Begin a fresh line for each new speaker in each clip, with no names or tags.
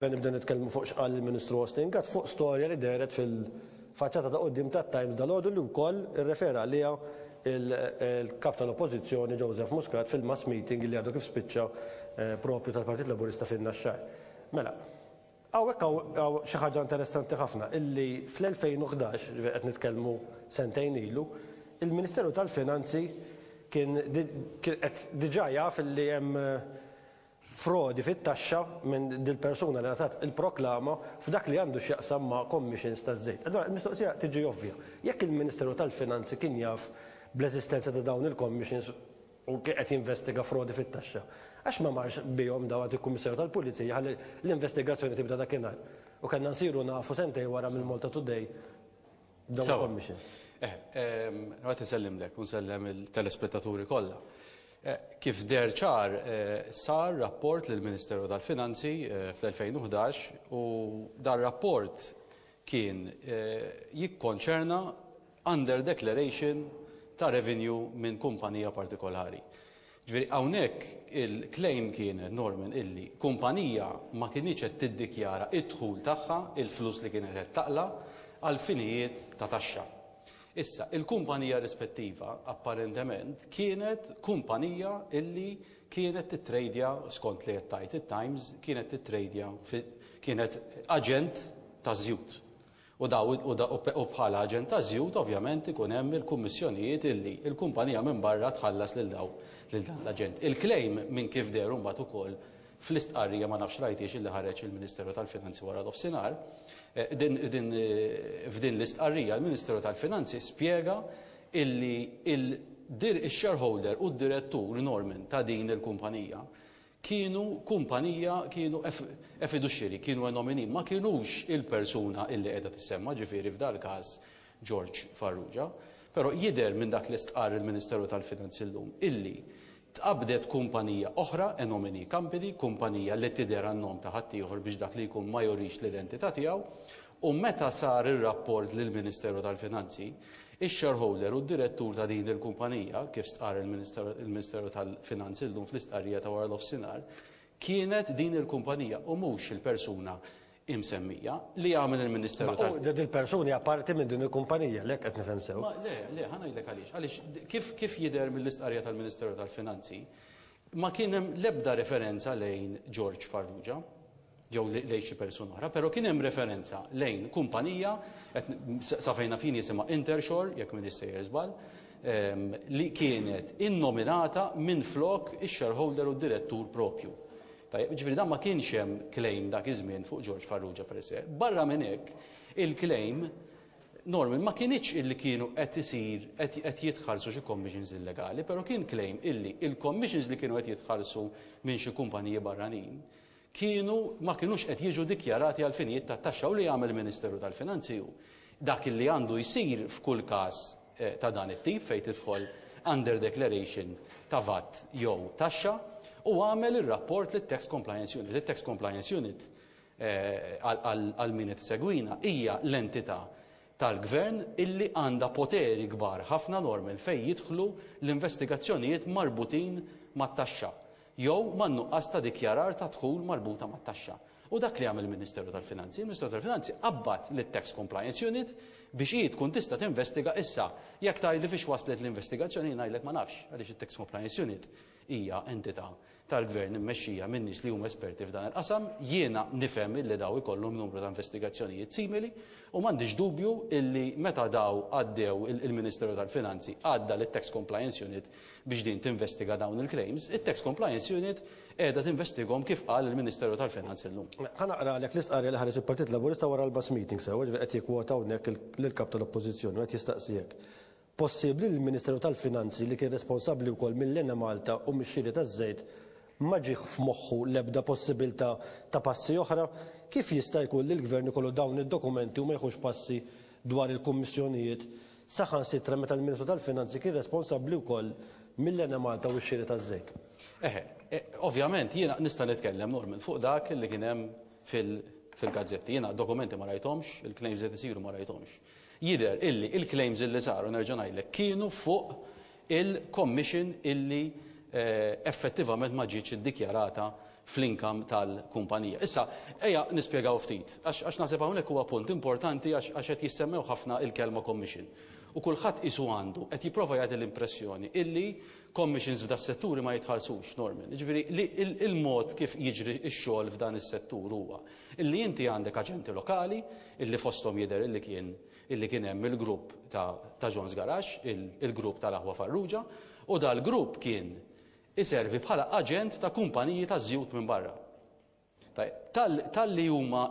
Nibdew nitkellmu fuq x'qal il-Ministru Austin Gatt fuq storja li dehret fil-faċċata ta' quddiem tat-Times dalgħodu li wkoll irrefera għaliha il-Kap tal-Oppożizzjoni Joseph Muscat fil-mass meeting li għadu kif spiċċa propju tal-Partit Laburista fin-Naxxar. Mela, hawnhekk hawn xi ħaġa interessanti ħafna illi fl-2011, ġifieri qed nitkellmu sentejn ilu, il-Ministeru tal-Finanzi kien qed diġà jaf illi hemm frodi fit-taxxa minn dil-persuna li ngħatat il-proklama f'dak li għandu x'jaqsam ma' commissions taż-żejt. Allura il-mistoqsija tiġi ovvja. Jekk il-Ministeru tal-Finanzi kien jaf bl-eżistenza ta' dawn il-commissions u kien qed jinvestiga frodi fit-taxxa, għax ma marx bihom dawn għand il-Kummissarju tal-Pulizija ħalli l-investigazzjoni tibda dakinhar? U kellna nsiru nafu sentejn wara mill-Malta Today dawn il-commissions.
Eh, għat nsellimlek u nsellem il-telespettaturi kollha. Kif deher ċar, sar rapport lill-Ministeru tal-Finanzi fl-2011 u dar-rapport kien jikkonċerna under declaration ta' revenue minn kumpanija partikolari. Ġifieri hawnhekk il-claim kienet, Norman, illi kumpanija ma kinitx qed tiddikjara d-dħul tagħha, il-flus li kienet qed taqla', għal finijiet ta' taxxa. Issa, il-kumpanija rispettiva, apparentement, kienet kumpanija illi kienet tittrejdja, skont li qed tgħid it-Times, kienet tittrejdja fi, kienet aġent taż-żjut. U daw, u da, u bħala aġent taż-żjut, ovvjament, ikun hemm il-kummissjonijiet illi l-kumpanija minn barra tħallas lil daw, lil dan l-aġent. Il-claim minn kif deher imbagħad ukoll Fl-istqarrija ma nafx rajthiex illi ħareġ il-Ministeru tal-Finanzi wara nofsinhar, din din f'din l-istqarrija l-Ministeru tal-Finanzi spjega illi il-shareholder u d-direttur Norman ta' din il-kumpanija kienu kumpanija kienu a fiduciary, kienu a nominee, ma kinux il-persuna illi qiegħda tissemma, ġifieri f'dal-każ George Farrugia. Però jidher minn dak li stqarr il-Ministeru tal-Finanzi llum illi Tqabbdet kumpanija oħra, a nominee company, kumpanija li tidher għan-nom ta' ħaddieħor biex dak li jkun ma jurix l-identità tiegħu, u meta sar ir-rapport lill-Ministeru tal-Finanzi, ix-shareholder u d-direttur ta' din il-kumpanija, kif stqarr il-Ministeru tal-Finanzi llum fl-istqarrija ta' wara nofsinhar, kienet din il-kumpanija u mhux il-persuna imsemmija, li għamel il-Ministeru tal.
Ma din il-persuna hija parti minn din il-kumpanija, le qed nifhem sew.
Ma le, le, ħa ngħidlek għaliex. Għaliex kif kif jidher mill-istqarrija tal-Ministeru tal-Finanzi, ma kien hemm l-ebda referenza lejn George Farrugia jew lejn xi persuna oħra, però kien hemm referenza lejn kumpanija, sa fejn naf jien jisimha Intershore, jekk m'iniex sejjer żball, li kienet innominata minflok ix-shareholder u d-direttur propju. Tajjeb, jiġifieri dan ma kienx hemm claim dak iż-żmien fuq George Farrugia per se. Barra minn hekk, il-claim, Norman, ma kinitx illi kienu qed isir, qed jitħallsu xi commissions illegali, però kien claim illi il-commissions li kienu qed jitħallsu minn xi kumpaniji barranin kienu ma kinux qed jiġu dikjarati għal finijiet ta' taxxa u li għamel il-Ministeru tal-Finanzi hu dak illi għandu jsir f'kull każ ta' dan it-tip fejn tidħol under declaration ta' vat jew taxxa u għamel ir-rapport lit-Tax Compliance Unit. It-Tax Compliance Unit, għal min qed isegwina, hija l-entità tal-Gvern illi għandha poteri kbar ħafna normal fejn jidħlu l-investigazzjonijiet marbutin mat-taxxa. jew man-nuqqas ta' dikjarar ta' dħul marbuta mat-taxxa. U dak li għamel il-Ministeru tal-Finanzi, il-Ministeru tal-Finanzi qabbad lit-Tax Compliance Unit biex hi tkun tista' tinvestiga issa. Jekk tgħidli fiex waslet l-investigazzjoni jien ngħidlek ma nafx għaliex it-Tax Compliance Unit hija entità tal-Gvern immexxija minn nies li huma esperti f'dan il-qasam. Jiena nifhem illi daw ikollhom numru ta' investigazzjonijiet simili u m'għandix dubju illi meta daw għaddew il-Ministeru tal-Finanzi għadda lit-Tax Compliance Unit biex din tinvestiga dawn il-claims, it-Tax Compliance Unit qiegħda tinvestighom kif qal il-Ministeru tal-Finanzi llum.
Ħa naqralek l-istqarrija li ħareġ il-Partit Laburista wara l-mass meeting sewwa, ġifieri qed jikkwota hawnhekk lill-Kap tal-Oppożizzjoni u qed jistaqsi hekk. Possibbli li l-Ministeru tal-Finanzi li kien responsabbli wkoll mill-Enemalta u mix-xiri taż-żejt ma ġiex f'moħħu l-ebda possibilità ta' passi oħra? Kif jista' jkun li l-Gvern ikollu dawn id-dokumenti u ma jieħux passi dwar il-kummissjonijiet saħansitra meta l-Ministru tal-Finanzi kien responsabbli wkoll mill-Enemalta u x-xiri taż-żejt.
Eħe, ovvjament jiena nista' nitkellem, Norman, fuq dak li kien hemm fil-gazzetti. Jiena d-dokumenti ma rajthomx, il-claims li qed isiru ma rajthomx. Jidher illi il-claims illi saru, nerġa' ngħidlek, kienu fuq il-commission illi effettivament ma ġietx iddikjarata. fl-income tal-kumpanija. Issa, ejja nispjegaw ftit, għax naħseb hawnhekk huwa punt importanti għax qed jissemmew ħafna il-kelma commission. U kulħadd qisu għandu, qed jipprova jagħti l-impressjoni illi commissions f'das-setturi ma jitħallsux, Norman. Jiġifieri li il-mod kif jiġri x-xogħol f'dan is-settur huwa illi inti għandek aġenti lokali illi fosthom jidher illi kien illi kien hemm il-grupp ta' ta' John's Garage, il-grupp tal-aħwa Farrugia, u dal-grupp kien iservi bħala aġent ta' kumpaniji taż-żjut minn barra. Tajjeb, tal, talli huma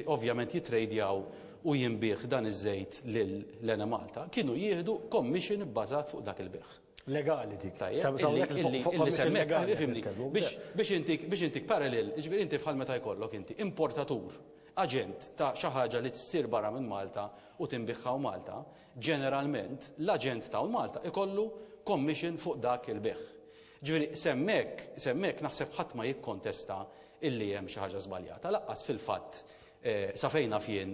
ovvjament jitrejdjaw u jinbiegħ dan iż-żejt lil l-Enemalta, kienu jieħdu commission ibbażat fuq dak il-bejgħ.
Legali dik.
Tajjeb, illi, illi semmek, ifhimni, biex, biex intik, biex intik parallel, jiġifieri inti bħal meta jkollok inti importatur, aġent ta' xi ħaġa li ssir barra minn Malta u tinbiegħ hawn Malta, Ġeneralment, l-aġent ta' hawn Malta ikollu commission fuq dak il-bejgħ. Ġifieri, s'hemmhekk, s'hemmhekk naħseb ħadd ma jikkontesta illi hemm xi ħaġa żbaljata, lanqas fil-fatt, sa fejn naf jien,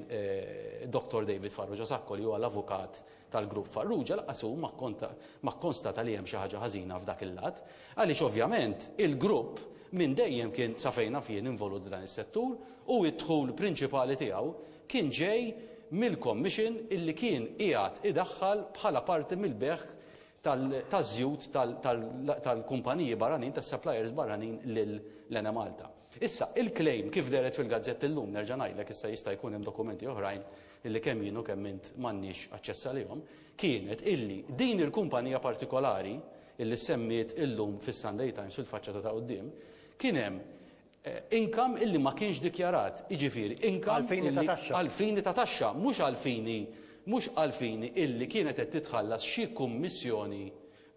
Dottor David Farrugia Sacco li huwa l-avukat tal-grupp Farrugia lanqas hu ma kkonstata li hemm xi ħaġa ħażina f'dak il-lat. Għaliex ovvjament il-grupp minn dejjem kien, sa fejn naf jien, involut f'dan is-settur u d-dħul prinċipali tiegħu kien ġej mill-commission illi kien qiegħed idaħħal bħala parti mill-bejgħ taż-żjut tal-kumpaniji barranin, tas-suppliers barranin lil l-Enemalta. Issa, il-claim kif dehret fil-gazzetti llum, nerġa' ngħidlek issa jista' jkun hemm dokumenti oħrajn illi kemm jien u kemm int m'għandniex aċċess għalihom, kienet illi din il-kumpanija partikolari illi ssemmiet illum fis-Sunday Times fil-faċċata ta' quddiem, kien hemm Income illi ma kienx dikjarat, jiġifieri income
Għal fini ta' taxxa.
Għal fini ta' taxxa, mhux għal fini mhux għal fini illi kienet qed titħallas xi kummissjoni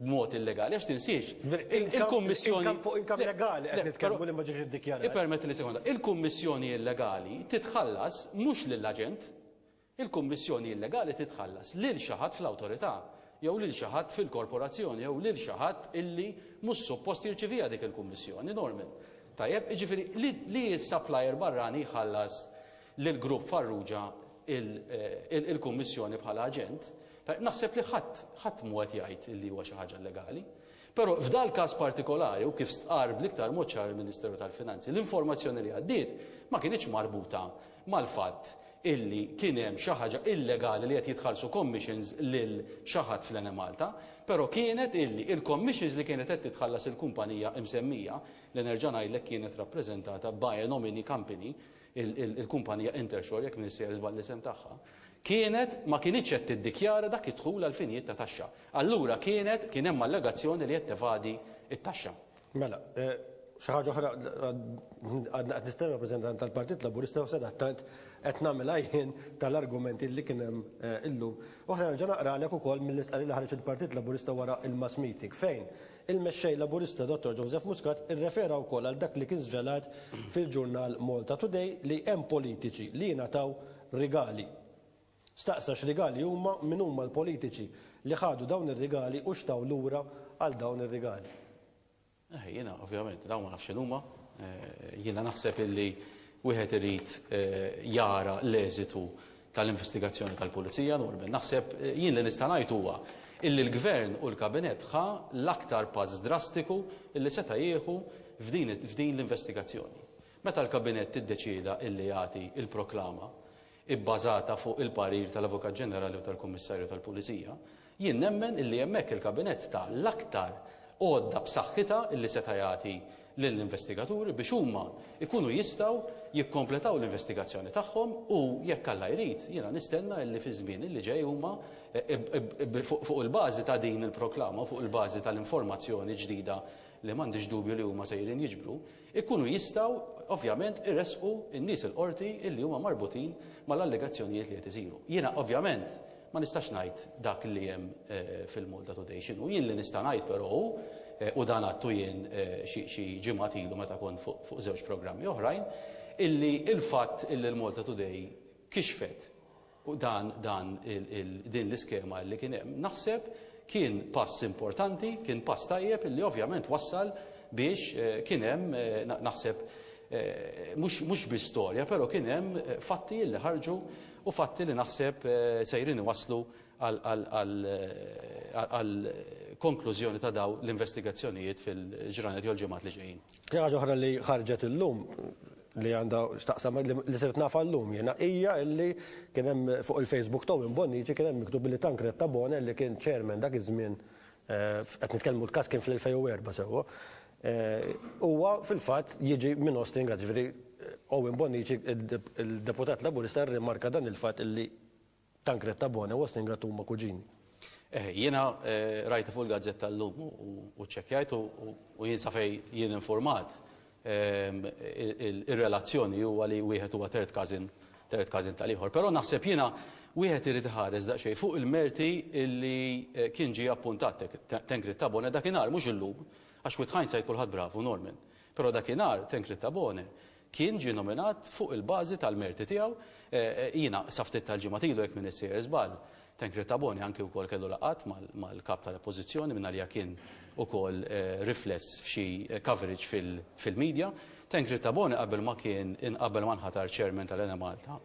b'mod illegali. Għax tinsiex, il-kummissjoni.
Income fuq income legali qed nitkellmu li ma ġiex iddikjarat.
Ippermettili sekonda. Il-kummissjoni illegali titħallas mhux lill-aġent, Il-kummissjoni illegali titħallas lil xi ħadd fl-awtorità, jew lil xi ħadd fil-korporazzjoni, jew lil xi ħadd illi mhux suppost jirċiviha dik il-kummissjoni, Norman. Tajjeb, jiġifieri li li s-supplier barrani jħallas lill-grupp Farrugia il-kummissjoni bħala aġent, tajjeb, naħseb li ħadd ħadd mhu qed jgħid illi huwa xi ħaġa illegali. Però f'dal-każ partikolari, u kif stqarr bl-iktar mod ċar il-Ministeru tal-Finanzi, l-informazzjoni li għaddiet ma kinitx marbuta mal-fatt illi kien hemm xi ħaġa illegali li qed jitħallsu commissions lil xi ħadd fl-Enemalta, però kienet illi il-commissions li kienet qed titħallas il-kumpanija imsemmija, li nerġa' ngħidlek kienet rappreżentata by a nominee company, il-kumpanija Intershore jekk m'iniex sejjer żball l-isem tagħha, kienet ma kinitx qed tiddikjara dak id-dħul għal finijiet ta' taxxa. Allura kienet kien hemm allegazzjoni li qed tevadi t-taxxa.
Mela, xi ħaġa oħra għadna qed nistennew rappreżentant tal-Partit Laburista u sadattant qed nagħmilha jien tal-argumenti li kien hemm illum. U ħa nerġa' naqralek ukoll mill-istqarrija li ħareġ il-Partit Laburista wara il-mass meeting fejn il-Mexxej Laburista Dottor Joseph Muscat irrefera wkoll għal dak li kien żvelat fil-ġurnal Malta Today li hemm politiċi li jingħataw rigali. Staqsa x'rigali huma, min huma l-politiċi li ħadu dawn ir-rigali u x'taw lura għal dawn ir-rigali.
Eh, jiena ovvjament dawn ma nafx x'inhuma. Jiena naħseb illi wieħed irid jara l-eżitu tal-investigazzjoni tal-Pulizija, Norman. Naħseb jien li nista' ngħid huwa illi l-Gvern u l-Kabinett ħa l-aktar pass drastiku illi seta' jieħu f'din f'din l-investigazzjoni. Meta l-Kabinett iddeċieda illi jagħti l-proklama ibbażata fuq il-parir tal-Avukat Ġenerali u tal-Kummissarju tal-Pulizija, jien nemmen illi hemmhekk il-Kabinett ta l-aktar għodda b'saħħitha illi seta' jagħti lill-investigaturi biex huma jkunu jistgħu jikkompletaw l-investigazzjoni tagħhom u jekk Alla jrid jiena nistenna illi fiż-żmien illi ġej huma fuq il-bażi ta' din il-proklama u fuq il-bażi tal-informazzjoni ġdida li m'għandix dubju li huma sejrin jiġbru, ikunu jistgħu ovvjament iressqu n-nies il-qorti illi huma marbutin mal-allegazzjonijiet li qed isiru. Jiena ovvjament ma nistax ngħid dak li hemm fil-Malta Today x'inhu. Jien li nista' ngħid però hu, u dan għadtu jien xi ġimgħat ilu meta kont fuq żewġ programmi oħrajn, illi l-fatt illi l-Malta Today kixfet U dan, dan il, din l-iskema li kien hemm, naħseb kien pass importanti, kien pass tajjeb illi ovvjament wassal biex kien hemm, naħseb, mhux, mhux biss storja, però kien hemm fatti li ħarġu u fatti li naħseb sejrin iwasslu għal konklużjoni ta' daw l-investigazzjonijiet fil-ġranet jew l-ġimgħat li ġejjin.
Xi ħaġa oħra li ħarġet illum li għandha x'taqsam li sirt nafha llum jiena hija li kien hemm fuq il-Facebook ta' Owen Bonnici kien hemm miktub li Tancred Tabone li kien chairman dak iż-żmien qed nitkellmu l-każ kien fl-2004 sewwa huwa fil-fatt jiġi minn Austin Gatt ġifieri Owen Bonnici il-deputat Laburista rrimarka dan il-fatt li Tancred Tabone u Austin Gatt huma kuġini.
Eh, jiena eh, rajta fuq il-gazzetta llum u ċċekkjajt u jien sa fejn jien informat ehm, ir-relazzjoni huwa li wieħed huwa third cousin third cousin tal-ieħor. Però naħseb jiena wieħed irid iħares daqsxejn fuq il-merti illi eh, kien ġie appuntat Tancred Tabone dakinhar mhux illum, għax with hindsight kulħadd bravu Norman. Però dakinhar Tancred Tabone Kien ġie nominat fuq il-bażi tal-merti tiegħu. Jiena sa ftit tal-ġimgħat ilu jekk m'iniex sejjer żball, Tancred Tabone anki wkoll kellu laqgħat mal-Kap tal-Oppożizzjoni mingħalija kien ukoll rifless f'xi coverage fil-media. Tancred Tabone qabel ma kien qabel ma nħatar Chairman tal-Enemalta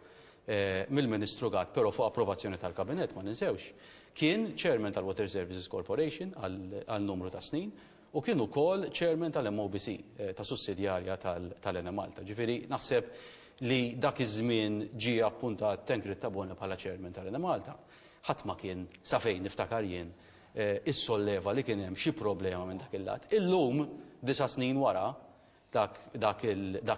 mill-Ministru Gatt però fuq approvazzjoni tal-Kabinett ma ninsewx, kien Chairman tal-Water Services Corporation għal numru ta' snin U kien ukoll chairman tal-MOBC, ta' sussidjarja tal-Enemalta. Ġifieri naħseb li dak iż-żmien ġie appuntat Tancred Tabone bħala chairman tal-Enemalta. Ħadd ma kien, sa fejn niftakar jien, issolleva li kien hemm xi problema minn dak il-lat. Illum, disa' snin wara dak dak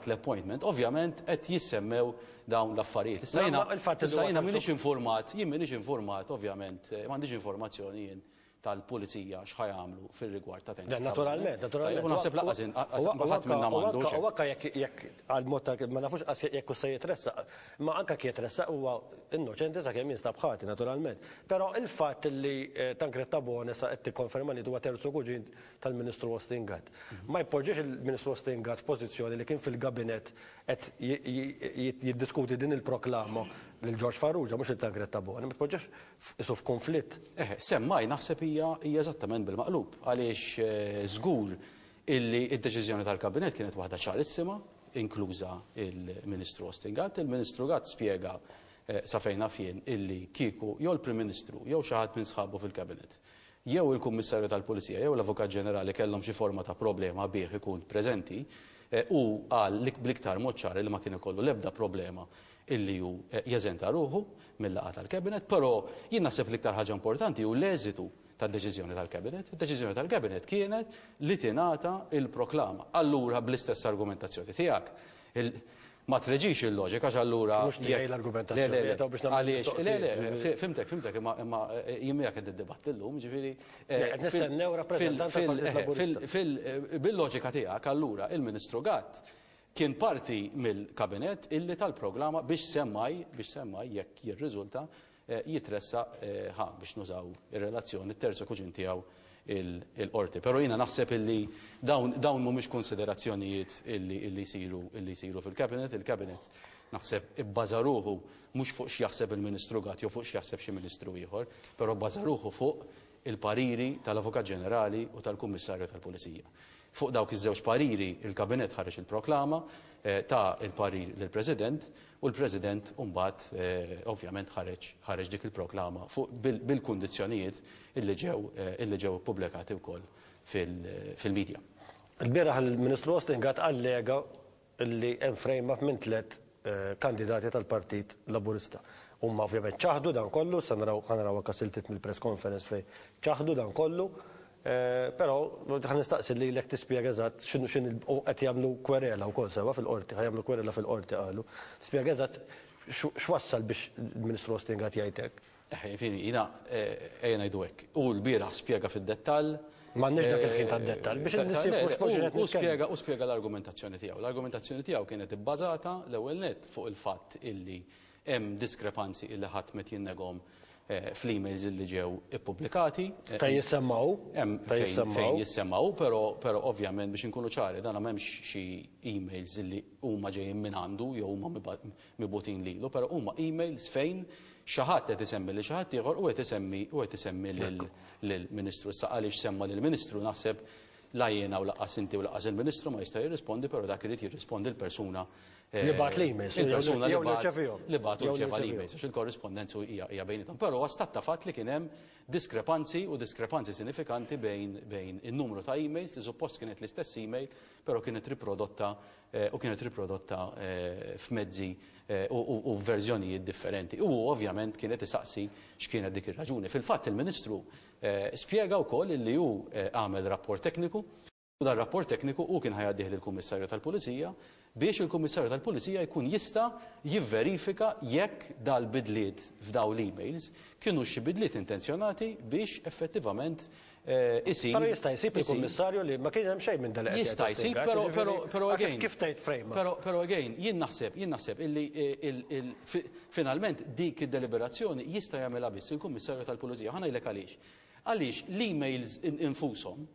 l-appointment, ovvjament qed jissemmew dawn l-affarijiet. Issa jiena issa jiena m'iniex informat, jien m'iniex informat ovvjament, m'għandix informazzjoni jien tal-pulizija x'ħa jagħmlu fir-rigward ta'
Le, naturalment, naturalment.
U naħseb lanqas ħadd minna m'għandu.
U anke jekk jekk għal mod ta' ma nafux qas jekk se jitressaq, ma anke jekk jitressaq huwa innoċenti sakemm jinstab ħati naturalment. Però il-fatt li eh, Tancred Tabone sa qed tikkonferma li huwa terzu kuġin tal-Ministru Austin Gatt. Ma jpoġġiex il-Ministru Austin Gatt f'pożizzjoni li kien fil-gabinett qed jiddiskuti din il-proklama lil George Farrugia mhux lil Tancred Tabone, ma tpoġġiex qisu f'kunflitt.
Eħe, semmai naħseb hija hija eżattament bil-maqlub, għaliex żgur illi d-deċiżjoni tal-Kabinett kienet waħda ċarissima, inkluża il-Ministru Austin Gatt. Il-Ministru Gatt spjega sa fejn naf jien illi kieku jew il-Prim Ministru jew xi ħadd minn sħabu fil-Cabinet jew il-Kummissarju tal-Pulizija jew l-Avukat Ġenerali kellhom xi forma ta' problema bih ikun preżenti, hu qal bl-iktar mod ċar illi ma kien ikollu l-ebda problema illi hu jeżenta ruħu mil-laqgħa tal-Cabinet, però jien naħseb l-iktar ħaġa importanti hu l-eżitu tad-deċiżjoni tal-Cabinet. Id-deċiżjoni tal-Cabinet kienet li tingħata l-proklama. Allura bl-istess argumentazzjoni tiegħek, ma treġix il-loġika għax allura.
Mhux tiegħi l-argumentazzjoni.
Le, le, għaliex, le, le, fhimtek, fhimtek, imma jien miegħek qed niddibatti llum, ġifieri.
Qed nistennew rappreżentant tal-Partit
Laburista. Bil-loġika tiegħek allura il-Ministru Gatt Kien parti mill-Kabinett illi ta l-proglama biex semmai, biex semmai jekk jirriżulta, jitressaq ħa, biex nużaw ir-relazzjoni, t-terzo kuġin tiegħu il-Qorti. Però jiena naħseb illi dawn, dawn mhumiex kunsiderazzjonijiet illi, illi jsiru, illi jsiru fil-Cabinet. Il-Cabinet naħseb ibbaża ruħu mhux fuq x'jaħseb il-Ministru Gatt jew fuq x'jaħseb xi Ministru ieħor, però bbaża ruħu fuq il-pariri tal-Avukat Ġenerali u tal-Kummissarju tal-Pulizija. Fuq dawk iż-żewġ pariri, il-Kabinett ħareġ il-proklama, ta l-parir lill-President u l-President mbagħad ovvjament ħareġ ħareġ dik il-proklama fuq bil-kundizzjonijiet illi ġew illi ġew ippubblikati wkoll fil-media.
Ilbieraħ il-Ministru Austin Gatt allega li hemm frame-up minn tlett kandidati tal-Partit Laburista. Huma ovvjament ċaħdu dan kollu, issa naraw ħa naraw anke siltiet mill-press conference fejn ċaħdu dan kollu, però ħa nistaqsi lilek tispjega eżatt x'inhu x'inhi u qed jagħmlu kwerela wkoll sewwa fil-qorti, ħa jagħmlu kwerela fil-qorti qalu. Tispjega eżatt x'wassal biex il-Ministru Austin Gatt jgħid hekk.
Eħe, jiġifieri jiena ejja ngħidu hekk, hu lbieraħ spjega fid-dettall.
M'għandniex dak il-ħin tad-dettall biex in-nies jifhmu x'fuq xiex qed
nitkellmu. Spjega, hu spjega l-argumentazzjoni tiegħu. L-argumentazzjoni tiegħu kienet ibbażata l-ewwel nett fuq il-fatt illi hemm diskrepanzi illi ħadd m'qed jinnegahom fl-emails illi ġew ippubblikati.
Fejn jissemma hu.
Fejn jissemma hu. Fejn jissemma hu, però però ovvjament biex inkunu ċari dan m'hemmx xi emails illi huma ġejjin mingħandu jew huma mibgħutin lilu, però huma emails fejn xi ħadd qed isemmi lil xi ħadd ieħor u qed isemmi u qed isemmi lill-Ministru. Issa għaliex semma lill-Ministru naħseb la jiena u lanqas inti u lanqas il-Ministru ma jista' jirrispondi, però dak irid jirrispondi l-persuna
Li bagħat l-emails,
Il-persuna
jew li rċevihom.
Li bagħat u
Jew li
rċeva
rċevihom.
l-emails, għax il-korrispondenza hija bejniethom. Però huwa stat ta' fatt li kien hemm diskrepanzi u diskrepanzi sinifikanti bejn in-numru ta' emails li suppost kienet l-istess email, però kienet riprodotta u kienet riprodotta f'mezzi u f'verżjonijiet differenti. U hu ovvjament kien qed isaqsi x'kienet dik ir-raġuni. Fil-fatt il-Ministru spjega wkoll illi hu għamel rapport tekniku. U dan rapport tekniku hu kien ħa jgħaddih lill-Kummissarju tal-Pulizija biex il-Kummissarju tal-Pulizija jkun jista' jivverifika jekk dal-bidliet f'dawn l-emails kinux xi bidliet intenzjonati biex effettivament isir.
Però jista' jsib il-Kummissarju li ma kien hemm xejn minn dan li qed jgħid
Jista' jsib,
Ostingat,
però,
jiġifieri,
però, però again.
Kif tgħid frame?
Però, però again, jien naħseb, jien naħseb illi finalment dik id-deliberazzjoni jista' jagħmilha biss il-Kummissarju tal-Pulizija. Ħa ngħidlek għaliex. Għaliex l-emails infushom,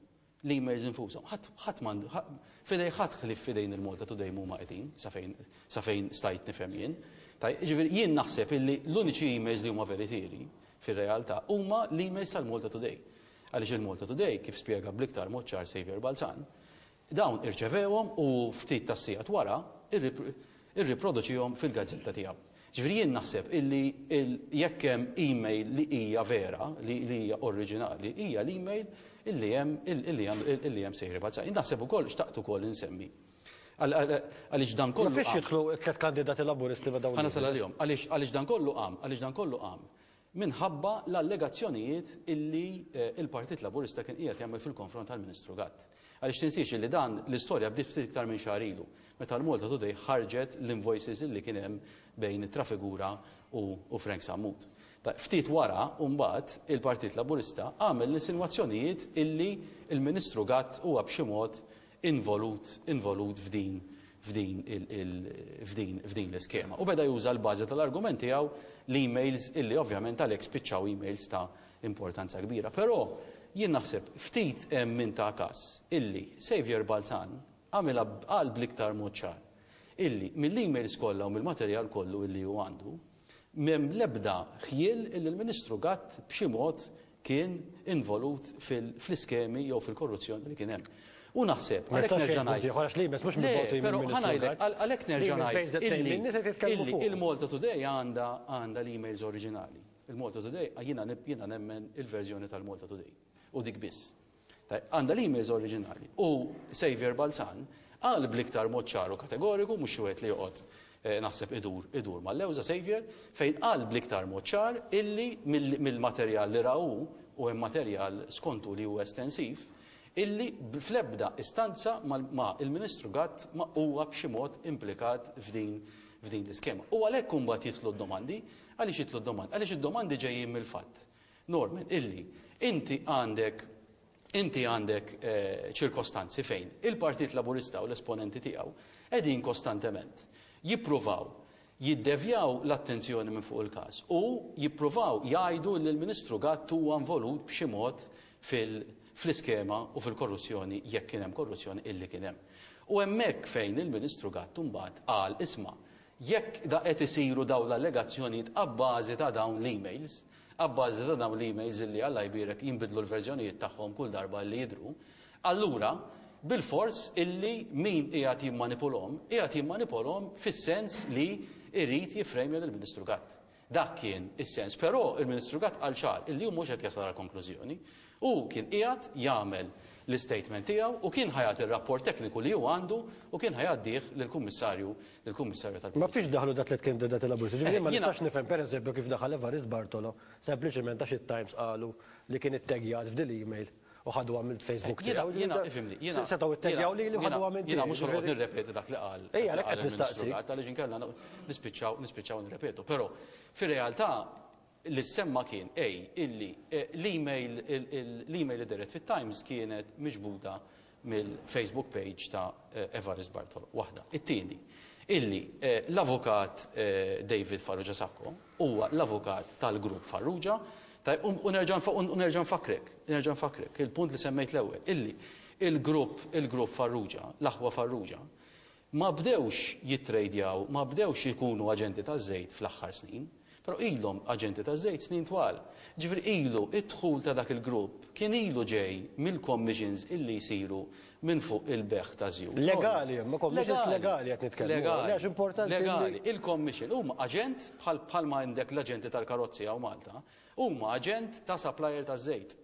l-emails infushom, ħadd, ħadd m'għandu, ħa, f'idej ħadd ħlief f'idejn il-Malta Today m'huma qegħdin, sa fejn, sa fejn stajt nifhem jien. Taj, jiġifieri jien naħseb illi l-uniċi emails li huma veritieri fir-realtà huma l-emails tal-Malta Today. Għaliex il-Malta Today, kif spjega bl-iktar mod ċar Saviour Balzan, dawn irċevewhom u ftit tas-sigħat wara irriproduċihom fil-gazzetta tiegħu. Ġifieri jien naħseb illi jekk hemm email li hija vera, li hija oriġinali, hija l-email illi hemm illi hemm illi hemm Saviour Balzan. Jien naħseb ukoll xtaqt ukoll insemmi. Għaliex dan kollu
Ma fiex
qam.
jidħlu t-tliet kandidati Laburisti ma' dawn
Ħa nasal għalihom. Għaliex dan kollu qam, għaliex dan kollu qam minħabba l-allegazzjonijiet illi il-Partit Laburista kien qiegħed jagħmel fil-konfront tal-Ministru Gatt. Għaliex tinsiex illi dan l-istorja bdiet ftit iktar minn xahar ilu, meta l-Malta Today ħarġet l-invoices illi kien hemm bejn it-Trafigura u Frank Sammut. Ftit wara, mbagħad, il-Partit Laburista għamel l-insinwazzjonijiet illi il-Ministru Gatt huwa b'xi mod involut f'din f'din f'din f'din l-iskema. U beda juża l-bażi tal-argument tiegħu l-emails illi ovvjament għalhekk spiċċaw emails ta' importanza kbira. Però jien naħseb ftit hemm min ta' każ illi Saviour Balzan għamilha qal bl-iktar mod ċar illi mill-emails kollha u mill-materjal kollu illi hu għandu m'hemm l-ebda ħjiel illi l-Ministru Gatt b'xi mod kien involut fl-iskemi jew fil-korruzzjoni li kien hemm. U naħseb,
Ma
għalhekk
jistax
nerġa'
jgħid
ngħid.
ieħor għax l-emails mhux
Le,
mibgħutin
però
mill-Ministru
ħa ngħidlek,
Gatt.
għalhekk nerġa'
L-emails
ngħid
bejn żewġ in-nies qed jitkellmu
illi
fuq.
il-Malta Today għandha l-emails oriġinali. Il-Malta Today, jiena nemmen il-verżjoni tal-Malta Today. U dik biss. Tajb, għandha l-emails oriġinali. U Saviour Balzan qal bl-iktar mod ċar u kategoriku, mhux xi wieħed li joqgħod naħseb idur mal-lewża Saviour, fejn qal bl-iktar mod ċar illi mill-materjal li rahu u hemm materjal skontu li huwa estensiv, illi fl-ebda istanza ma il-Ministru Gatt ma huwa b'xi mod implikat f'din l-iskema. U għalhekk imbagħad jitlu d-domandi, għaliex jitlu d-domandi? Għaliex id-domandi ġejjin mill-fatt, Norman, illi inti għandek inti għandek ċirkostanzi fejn il-Partit Laburista u l-esponenti tiegħu qegħdin kostantement jippruvaw jiddevjaw l-attenzjoni minn fuq il-każ u jippruvaw jgħidu li l-Ministru Gatt huwa involut b'xi mod fl-iskema u fil-korruzzjoni jekk kien hemm korruzzjoni illi kien hemm. U hemmhekk fejn il-Ministru Gatt imbagħad qal isma' jekk da qed isiru dawn l-allegazzjonijiet abbażi ta' dawn l-emails, abbażi ta' dawn l-emails illi Alla jbierek jinbidlu l-verżjonijiet tagħhom kull darba li jidhru, allura bil-fors illi min qiegħed jimmanipulhom, qiegħed jimmanipulhom fis-sens li jrid jiffrejmja lill-Ministru Gatt. Dak kien is-sens, però il-Ministru Gatt qal ċar illi hu mhux qed jasal għal konklużjoni. Hu kien qiegħed jagħmel l-istatement tiegħu u kien ħajat ir-rapport tekniku li hu għandu u kien ħajgħaddih lill-Kummissarju tal-Pulizija.
Ma fiex daħlu dat li kandidati Laburisti, ġifieri ma
Jiena
nistax nifhem pereżempju kif daħal Evarist Bartolo, sempliċement għax it-Times qalu li kien ittegjat f'dil email u ħadu għamil Facebook tiegħu.
Ifhimni, jiena
Setgħu ittegjawli li ħadu għamil
jiena mhux
tiegħi,
ħanoqgħod
ġifieri
nirrepeti dak li qal.
Ejja, għalhekk qed
il-Ministru
nistaqsi.
Gatt, għaliex inkella nispiċċaw nirrepetu. Però fir-realtà li semma kien ej illi l-email li deret fit-Times kienet miġbuda mill-Facebook page ta' Evarist Bartolo. Waħda. It-tieni, illi l-avukat David Farrugia Sacco huwa l-avukat tal-grupp Farrugia. Tajb, u nerġa' nfakkrek, nerġa' nfakkrek, il-punt li semmejt l-ewwel, illi il-grupp Farrugia, l-aħwa Farrugia, ma bdewx jitrejdjaw, ma bdewx jkunu aġenti taż-żejt fl-aħħar snin. Però ilhom aġenti taż-żejt snin twal. Ġifieri ilu d-dħul ta' dak il-grupp kien ilu ġej mill-commissions illi jsiru minn fuq il-bejgħ ta' żjut.
Legali, imma commissions legali qed nitkellmu.
Legali.
Għax importanti li.
Legali. Il-commission huma aġent bħal bħalma għandek l-aġenti tal-karozzi hawn Malta, huma aġent ta' supplier taż-żejt.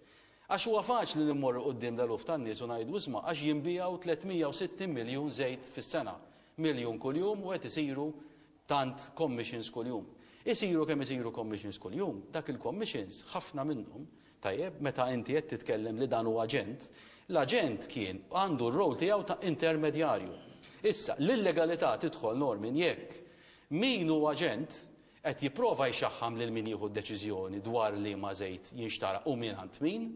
Għax huwa faċli li mmorru quddiem l-eluf tan-nies u ngħidu isma' għax jinbiegħu 360 miljun żejt fis-sena, miljun kuljum u qed isiru tant commissions kuljum. Isiru kemm isiru commissions kuljum, dak il-commissions ħafna minnhom, tajjeb, meta inti qed titkellem li dan hu aġent, l-aġent kien għandu r-role tiegħu ta' intermedjarju. Issa, l-illegalità tidħol Norman jekk min hu aġent qed jipprova jxaħħam lil min jieħu d-deċiżjoni dwar liema żejt jinxtara u mingħand min,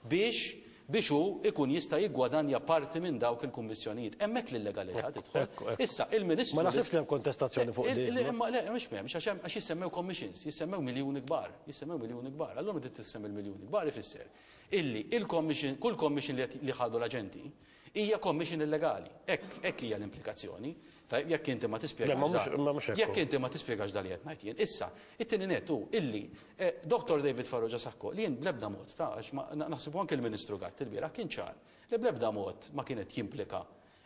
biex biex hu ikun jista' jiggwadanja parti minn dawk il-kummissjonijiet. Hemmhekk l-illegalità tidħol. Issa, il-Ministru.
Ma naħsibx li hemm kontestazzjoni fuq din.
Imma le, mhux m'hemmx, għax hemm għax jissemmew commissions, jissemmew miljuni kbar, jissemmew miljuni kbar. Allura meta tissemmi l-miljuni kbar ifisser illi il-commission, kull commission li li ħadu l-aġenti hija commission illegali. Hekk hekk hija l-implikazzjoni. Tajjeb, jekk inti ma tispjegax dan. Jekk inti ma tispjegax dan li qed ngħid jien. Issa, it-tieni nett hu illi Dottor David Farrugia Sacco, li jien bl-ebda mod ta' għax ma naħseb u anke l-Ministru Gatt ilbieraħ kien ċar li bl-ebda mod ma kien qed jimplika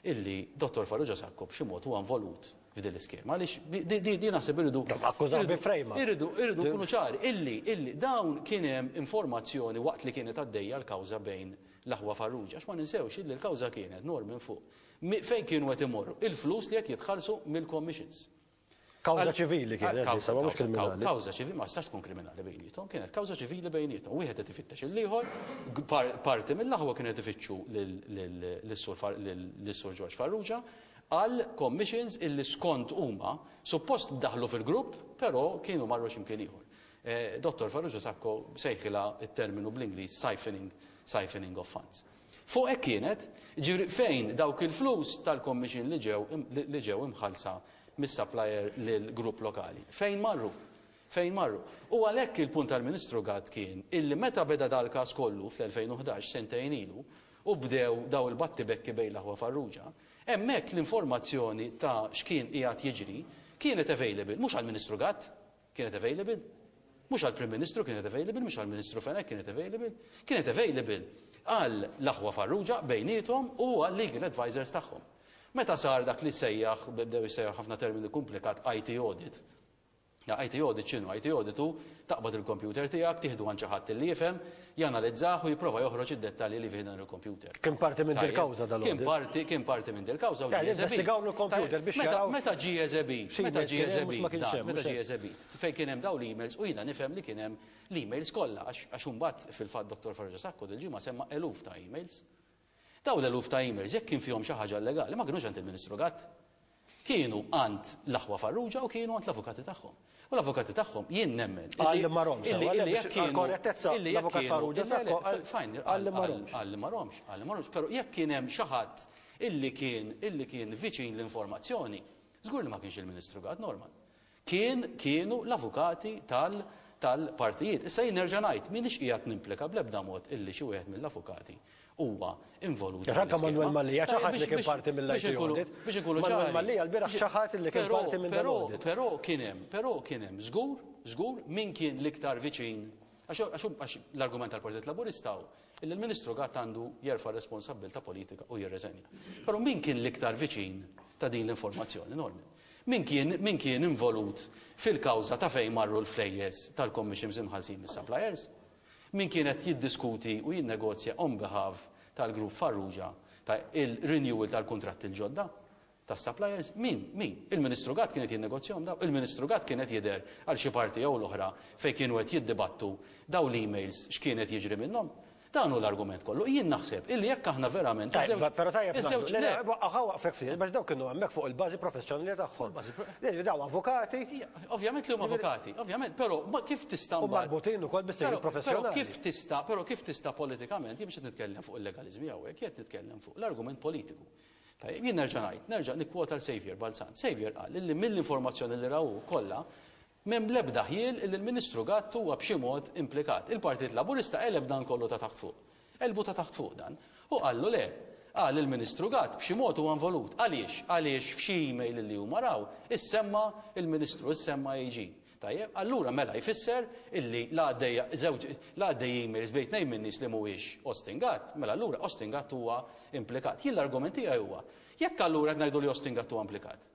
illi Dottor Farrugia Sacco b'xi mod huwa involut f'din l-iskema. Għaliex di naħseb irridu.
Akkużah bi frame up.
Irridu irridu nkunu ċari illi illi dawn kien hemm informazzjoni waqt li kienet għaddejja l-kawża bejn l-aħwa Farrugia. Għax ma ninsewx illi l-kawża kienet Norman fuq Fejn kienu qed imorru? Il-flus li qed jitħallsu mill-commissions.
Kawża ċivili kienet, issa ma mhux kriminali.
Kawża ċivili ma tistax tkun kriminali bejniethom, kienet kawża ċivili bejniethom. Wieħed qed ifittex il-ieħor, parti mill-aħwa kienu qed ifittxu lis-Sur George Farrugia għal commissions illi skont huma suppost daħlu fil-grupp, però kienu marru xi mkien ieħor. Dottor Farrugia Sacco sejħilha t-terminu bl-Ingliż siphoning, siphoning of funds. Fuq hekk kienet, jiġifieri fejn dawk il-flus tal-commission li ġew li ġew imħallsa mis-supplier lill-grupp lokali. Fejn marru? Fejn marru? U għalhekk il-punt tal-Ministru Gatt kien illi meta beda dal-każ kollu fl-2011, sentejn ilu, u bdew daw il-battibekki bejn l-aħwa Farrugia, hemmhekk l-informazzjoni ta' x'kien qiegħed jiġri kienet available mhux għall-Ministru Gatt, Kienet available? Mhux għall-Prim Ministru kienet available, mhux għall-Ministru Fenech kienet available. Kienet available għal l-aħwa Farrugia bejniethom u għal-legal advisers tagħhom. Meta sar dak li sejjaħ, bdew jissejjaħ ħafna termini kumplikat, IT audit. IT audit x'inhu? IT audit hu taqbad il-computer tiegħek, tieħdu għand xi ħadd li jifhem, janalizzah u jipprova joħroġ id-dettalji li fih dan il-computer.
Kien parti minn dil-kawża dal-audit.
Kien parti, kien parti minn dil-kawża u
ġie eżebit. Investigaw l-computer biex jaraw.
Meta ġie eżebit, meta ġie eżebit, meta ġie eżebit, fejn kien hemm dawn l-emails u jiena nifhem li kien hemm l-emails kollha għax imbagħad fil-fatt Dottor Farrugia Sacco dil-ġimgħa semma eluf ta' emails. Dawn l-eluf ta' emails jekk kien fihom xi ħaġa illegali ma kinux għand il-Ministru Gatt. Kienu għand l-aħwa Farrugia u kienu għand l-avukati tagħhom. U l-avukati tagħhom jien nemmen.
Qal li ma romx. Illi jekk kienu. Korrettezza l-avukat Farrugia Sacco qal li ma romx.
Qal li ma romx, qal li ma romx. Però jekk kien hemm xi ħadd illi kien illi kien viċin l-informazzjoni, żgur li ma kienx il-Ministru Gatt Norman. Kien, kienu l-avukati tal, tal-partijiet. Issa jien nerġa' ngħid, m'iniex qiegħed nimplika bl-ebda mod illi xi wieħed mill-avukati huwa involut f'din
Anke
l-iskema.
Manuel Mallia ċaħad li kien parti mill-IT audit.
Biex inkunu ċari.
Manuel Mallia lbieraħ ċaħad li kien parti minn dan l-audit.
Però, però kien hemm, però kien hemm żgur, żgur min kien l-iktar viċin, għax, għax, għax l-argument tal-Partit Laburista hu illi l-Ministru Gatt għandu jerfa' r-responsabbiltà politika u jirreżenja. Però min kien l-iktar viċin ta' din l-informazzjoni, Norman? Min kien min kien involut fil-kawża ta' fejn marru l-flejjes tal-commissions imħallsin mis-suppliers? Min kien qed jiddiskuti u jinnegozja on behalf tal-grupp Farrugia ta' il-renewal tal-kuntratti l-ġodda tas-suppliers? Min? Min? Il-Ministru Gatt kien qed jinnegozjahom dawn? Il-Ministru Gatt kien qed jidher għal xi parti jew l-oħra fejn kienu qed jiddibattu dawn l-emails x'kien qed jiġri minnhom? Dan hu l-argument kollu. Jien naħseb illi jekk aħna verament
iż-żewġ. Tajjeb, però tajjeb ngħidu. Le, le, ħa waqfek ftit, għax dawk kienu hemmhekk fuq il-bażi professjonali tagħhom. Dawn avukati.
Ovvjament li huma avukati, ovvjament, però kif tista'
U marbutin ukoll bis-sejħiet professjonali.
Però kif tista' però kif tista' politikament, jien mhux qed nitkellem fuq il-legaliżmi hawnhekk, jien qed nitkellem fuq l-argument politiku. Tajjeb, jien nerġa' ngħid, nerġa' nikkwota 'l Saviour Balzan. Saviour qal illi mill-informazzjoni li ra hu kollha, M'hemm l-ebda ħjiel illi l-Ministru Gatt huwa b'xi mod implikat. Il-Partit Laburista qeleb dan kollu ta' taħt fuq. Qelbu ta' taħt fuq dan. U qallu le. Qal il-Ministru Gatt b'xi mod huwa involut. Għaliex? Għaliex f'xi email illi huma raw, issemma l-Ministru, issemma AG. Tajjeb, allura mela jfisser illi la għaddejja żewġ la għaddej emails bejn tnejn min-nies li mhuwiex Austin Gatt, mela allura Austin Gatt huwa implikat. Jien l-argument tiegħi huwa, jekk allura qed ngħidu li Austin Gatt huwa implikat,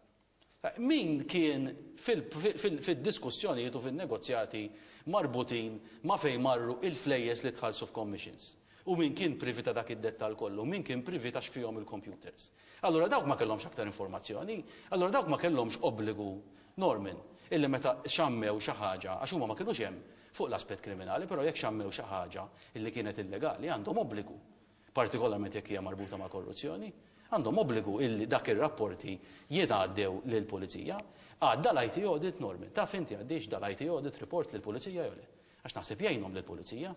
min kien fid-diskussjonijiet u fin-negozjati marbutin ma' fejn marru il-flejjes li tħallsu f'commissions? U min kien privy ta' dak id-dettall kollu? Min kien privy ta' x'fihom il-computers? Allura dawk ma kellhomx aktar informazzjoni? Allura dawk ma kellhomx obbligu, Norman, illi meta xammew xi ħaġa, għax huma ma kinux hemm fuq l-aspett kriminali, però jekk xammew xi ħaġa illi kienet illegali għandhom obbligu, partikolarment jekk hija marbuta ma' korruzzjoni, għandhom obbligu illi dak ir-rapporti jingħaddew lill-pulizija. Għadda l-IT audit, Norman, taf inti għaddiex dal-IT audit report lill-pulizija jew le? Għax naħseb jgħinhom lill-pulizija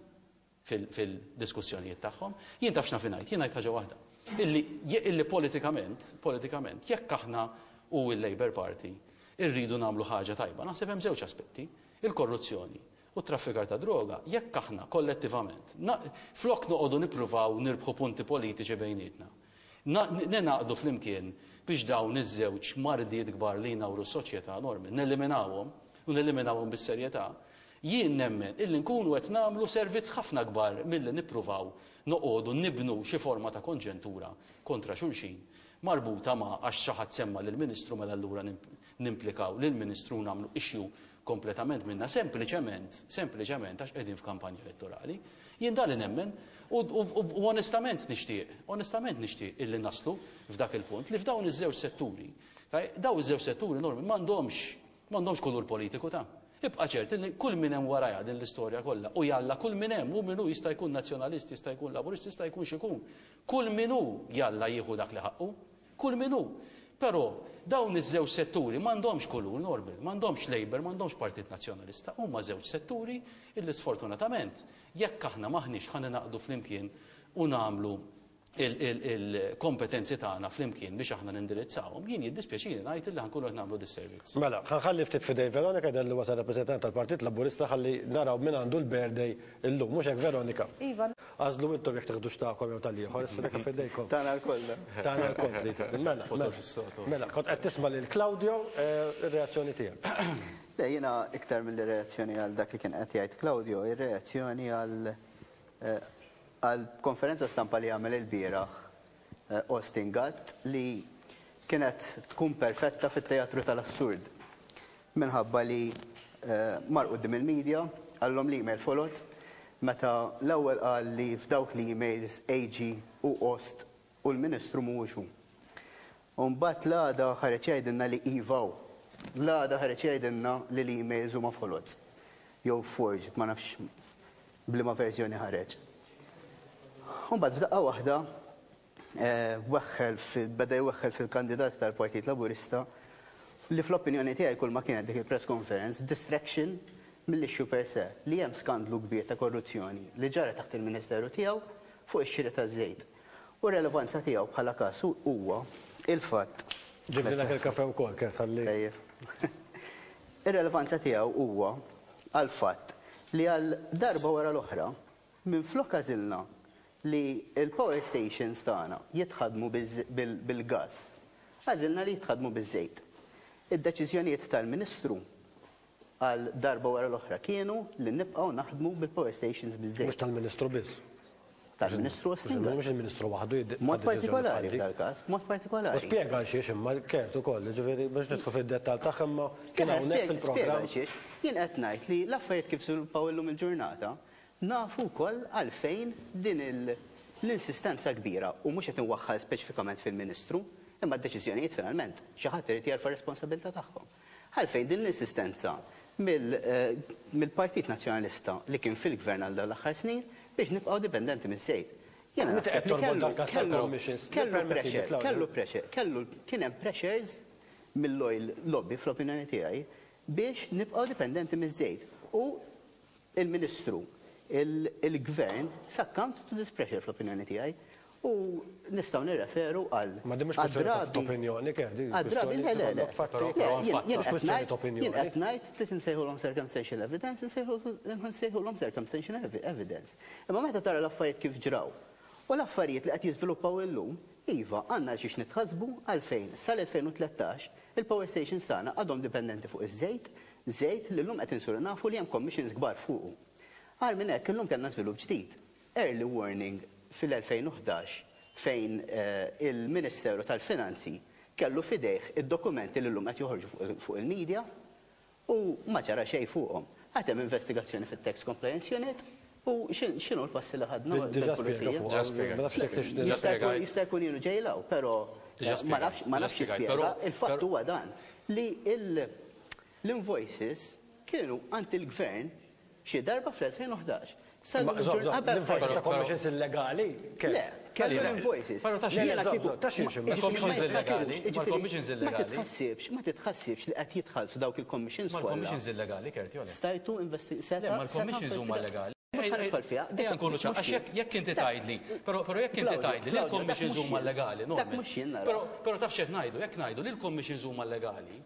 fil-diskussjonijiet tagħhom. Jien taf x'naf ngħid, jien ngħid ħaġa waħda. Illi, illi politikament, politikament, jekk aħna u l-Labour Party irridu nagħmlu ħaġa tajba, naħseb hemm żewġ aspetti, il-korruzzjoni u t-traffikar ta' droga, jekk aħna kollettivament, flok noqogħdu nippruvaw nirbħu punti politiċi bejnietna, ningħaqdu flimkien biex dawn iż-żewġ mardiet kbar li jnawru s-soċjetà Norman, neliminawhom, u neliminawhom bis-serjetà, Jien nemmen illi nkunu qed nagħmlu servizz ħafna akbar milli nippruvaw noqogħdu nibnu xi forma ta' konġentura kontra xulxin marbuta ma' għax xi ħadd semma lill-Ministru mela allura nimplikaw lill-Ministru u nagħmlu issue kompletament minnha sempliċement, sempliċement għax qegħdin f'kampanja elettorali. Jien dan li nemmen u u onestament nixtieq, onestament nixtieq illi naslu f'dak il-punt li f'dawn iż-żewġ setturi, dawn iż-żewġ setturi Norman m'għandhomx M'għandhomx kulur politiku ta'. Ibqa' ċert illi kull min hemm warajha din l-istorja kollha, u jalla kull min hemm, hu min hu, jista' jkun Nazzjonalist, jista' jkun Laburist, jista' jkun x'ikun, kull min hu jalla jieħu dak li ħaqqu. Kull min hu. Però dawn iż-żewġ setturi m'għandhomx kulur, Norbert, m'għandhomx Labour, m'għandhomx Partit Nazzjonalista, huma żewġ setturi illi sfortunatament jekk aħna m'aħniex ħa ningħaqdu flimkien u nagħmlu il-kompetenzi tagħna flimkien biex aħna nindirizzawhom, jien jiddispjaċini ngħid li ħa nkunu qed nagħmlu disservizz.
Mela, ħa nħalli ftit f'idejn Veronica jidher li wasal rappreżentant tal-Partit Laburista ħalli naraw min għandu l-birthday illum. Mhux hekk Veronica?
Iva.
Għażlu intom jekk teħdux tagħkom jew tal-ieħor, issa dak f'idejkom.
Tagħna lkoll.
Tagħna lkoll trid. Mela, mela. Mela, kont qed tisma' lil Claudio, ir-reazzjoni tiegħek.
Le, jiena iktar milli reazzjoni għal dak li kien qed jgħid Claudio, ir-reazzjoni għal Għal konferenza stampa li għamel ilbieraħ Austin Gatt li kienet tkun perfetta fit-teatru tal-assurd minħabba li mar quddiem il-media qalilhom l-email foloz meta l-ewwel qal li f'dawk l-emails AG u Ost u l-Ministru mhuwiex hu. U mbagħad l-għada ħareġ jgħidilna li iva hu. L-għada ħareġ jgħidilna li l-emails huma foloz jew forged, ma nafx b'liema verżjoni ħareġ. U mbagħad f'daqqa waħda weħħel beda jweħħel fil-kandidati tal-Partit Laburista li fl-opinjoni tiegħi kull ma kienet dik il-press conference distraction mill-issue per se li hemm skandlu kbir ta' korruzzjoni li ġara taħt il-Ministeru tiegħu fuq ix-xiri taż-żejt. U r-relevanza tiegħu bħala każ huwa il-fatt
Ġibnilek il-kafe wkoll, Kurt, ħalli.
Tajjeb. Ir-relevanza tiegħu huwa għall-fatt li għal darba wara l-oħra, minflok għażilna li l-power stations tagħna jitħaddmu bil-gass, għażilna li jitħaddmu biż-żejt. Id-deċiżjonijiet tal-Ministru għal darba wara l-oħra kienu li nibqgħu naħdmu bil-power stations biż-żejt.
Mhux tal-Ministru biss.
Tal-Ministru Austin Gatt.
Mhux il-Ministru waħdu jiddi.
B'mod partikolari f'dal-każ, b'mod partikolari.
U spjega għal xiex imma Kurt ukoll, jiġifieri biex nidħlu fid-dettall tagħha imma kien hawnhekk fil-programm.
Spjega għal xiex. Jien qed ngħid li l-affarijiet kif żviluppaw illum il-ġurnata, nafu wkoll għalfejn din l-insistenza kbira, u mhux qed inwaħħal speċifikament fil-Ministru, imma d-deċiżjonijiet finalment xi ħadd irid jerfa' r-responsabilità tagħhom. Għalfejn din l-insistenza mill-Partit Nazzjonalista li kien fil-Gvern għal dawn l-aħħar snin biex nibqgħu dipendenti miż-żejt? Jiena naħseb li kellu kellu pressure, kellu pressure, kellu kien hemm pressures mill-oil lobby fl-opinjoni tiegħi biex nibqgħu dipendenti miż-żejt. U Il-Ministru, il-Gvern succumbed to this pressure fl-opinjoni tiegħi u nistgħu nirreferu għal
Ma din mhux kwistjoni ta' opinjoni, Kev, din
kwistjoni le, le, le.
Jien qed ngħid
jien qed ngħid trid insejħulhom circumstantial evidence, insejħulhom circumstantial evidence. Imma meta tara l-affarijiet kif ġraw u l-affarijiet li qed jiżviluppaw illum, iva, għandna għal xiex nitħassbu għalfejn sal-2013 Il-power stations tagħna għadhom dipendenti fuq iż-żejt, żejt li llum qed insiru nafu li hemm commissions kbar fuqu. Agħar minn hekk illum kellna żvilupp ġdid. Early warning fil-2011 fejn il-Ministeru tal-Finanzi kellu f'idejh id-dokumenti li llum qed joħorġu fuq il-media u ma ġara xejn fuqhom. Għad hemm investigazzjoni fit-Tax Compliance Unit u x'inhu l-passi li ħadna
l-pulizija?
Jista' jkun ilu ġej 'l hawn, però ma nafx ma nafx jispjega. Il-fatt huwa dan li l-invoices kienu għand il-Gvern xi darba fl-2011.
Sal-lum il-ġurnata. L-invoices ta' commissions illegali?
Le, kellu l-invoices.
Però ta' xiex?
Ta' xiex?
Il-commissions illegali. Ma' illegali.
Ma titħassibx, ma titħassibx li qed jitħallsu dawk il-commissions
kollha. Ma' l-commissions illegali, Kurt, jew le?
Stajtu investi.
Le, ma' l-commissions huma legali.
Mhux ħa nidħol fiha.
Ejja nkunu ċari, għax jekk jekk inti tgħidli, però però jekk inti tgħidli li l-commissions huma llegali,
Norman. Dak mhux jien nara.
Però però taf x'qed ngħidu, jekk ngħidu li l-commissions huma llegali,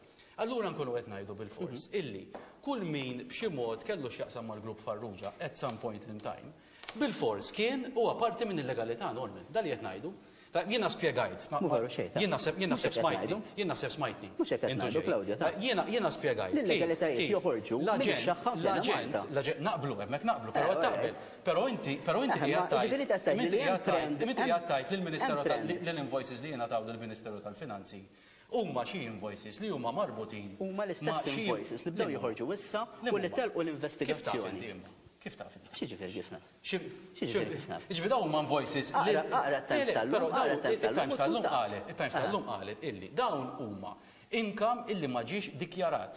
allura nkunu qed ngħidu bilfors illi kull min b'xi mod kellu x'jaqsam mal-grupp Farrugia at some point in time, bilfors kien huwa parti minn illegalità, Norman. Dan li qed ngħidu. Tajjeb, jiena spjegajt.
Mhu veru xejn, ta.
Jien naħseb, jien
Mhux
naħseb
hekk qed
smajtni.
ngħidu.
Jien naħseb smajtni.
Mhux hekk qed
Intu
ngħidu,
ġej.
Claudio, ta.
Jiena, jiena spjegajt kif,
L-illegalitajiet
kif
joħorġu minn
l-aġent,
ix-xaħħa f'Ena
l-aġent,
Malta.
l-aġent, naqblu, hemmhekk naqblu, però
Eh,
qed taqbel.
alright.
Però inti, però inti
Eh, ma
qiegħed tgħid,
jiġifieri qed tgħid
imma inti
li hemm
qiegħed tgħid,
trend,
imma inti
hemm
qiegħed tgħid lill-Ministeru
hemm
tal,
trend.
li l-invoices li jingħataw lill-Ministeru tal-Finanzi huma xi invoices li huma marbutin
Huma
ma'
l-istess
xi
invoices li bdew
Liema huma?
joħorġu issa
Liema
u li
huma?
telqu
Kif taf
l-investigazzjoni.
inti imma? Kif taf inti?
X'jiġifieri kif naf? X'jiġifieri kif naf?
Jiġifieri dawn huma invoices li.
Aqra, aqra t-Times tal-lum, aqra t-Times tal-lum.
Il-Times tal-lum qalet, il-Times tal-lum qalet illi dawn huma income illi ma ġiex dikjarat.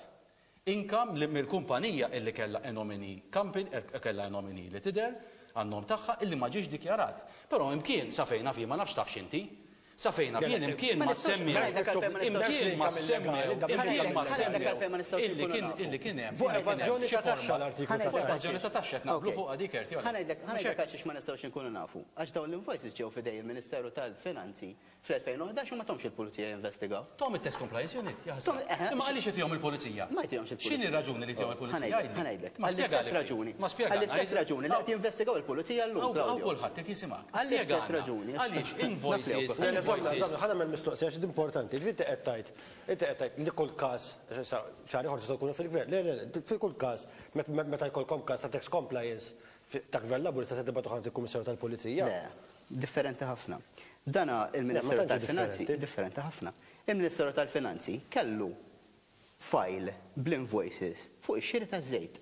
Income li mill-kumpanija illi kellha a nominee company, kellha a nominee li tidher għan-nom tagħha illi ma ġiex dikjarat. Però imkien sa fejn naf jien, ma nafx tafx inti, Sa fejn naf jien imkien ma semmew, imkien ma semmew, imkien ma semmew illi kien illi kien hemm.
Fuq evażjoni ta' taxxa l-artiklu ta'
Fuq evażjoni ta' taxxa qed naqblu fuqha dik Kurt, jew le?
Ħa ngħidlek, ħa ngħidlek għalxiex ma nistgħux inkunu nafu. Għax dawn l-invoices ġew f'idej il-Ministeru tal-Finanzi fl-2011 u ma tahomx il-Pulizija jinvestigaw.
Tahom it-Tax Compliance Unit, jaħasra. Imma għaliex itihom il-Pulizija?
Ma jtihomx il-Pulizija.
X'inhi r-raġuni li jtihom il-Pulizija? Għidli.
Ħa ngħidlek.
Ma spjegali
Għall-istess raġuni.
Ma spjegalna.
Għall-istess raġuni li qed jinvestigaw il-Pulizija llum,
Hawn
Claudio.
kulħadd qed jisimgħek.
Għall-istess
Spjegana
raġuni.
Għaliex invoices, invoices.
Ħa nagħmel mistoqsija għax importanti. Ġifieri inti qed tgħid, inti qed tgħid li kull każ, issa xahar ieħor tistgħu tkunu fil-gvern. Le, le, le, fi kull każ, meta jkollkom każ ta' tax compliance ta' gvern Laburista se tibgħatu għand il-Kummissarju tal-Pulizija.
Le, differenti ħafna. Dana il-Ministeru tal-Finanzi, differenti ħafna. Il-Ministeru tal-Finanzi kellu file bl-invoices fuq ix-xiri taż-żejt.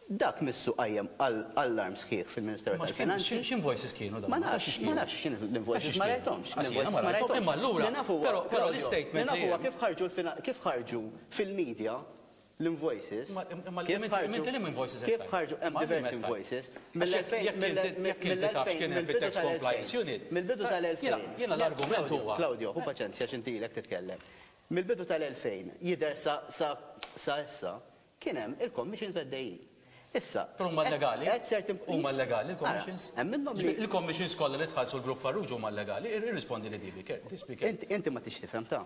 Dak missu qajjem allarm sħiħ fil-Ministeru tal-Finanzi.
X'invoices kienu dawn?
Ma nafx, ma nafx x'inhu l-invoices, ma rajthomx.
L-invoices ma rajthomx. Imma allura, però l-istatement
li naf huwa kif ħarġu kif ħarġu fil-media l-invoices.
Kif ħarġu? Inti liema invoices
qed Kif ħarġu hemm diversi invoices.
Mill-2000 jekk inti taf x'kien hemm fit-Tax Compliance Unit.
Mill-bidu tal-2000.
Jiena l-argument huwa.
Claudio, ħu paċenzja għax inti ilek titkellem. Mill-bidu tal-2000 jidher sa issa Kien hemm il-commissions għaddejjin. Issa.
Però huma llegali? Huma llegali l-commissions?
Hemm minnhom li.
Il-commissions kollha li tħallsu l-Grupp Farrugia huma llegali? Irrispondi li di, Speaker.
Inti ma tridx tifhem ta.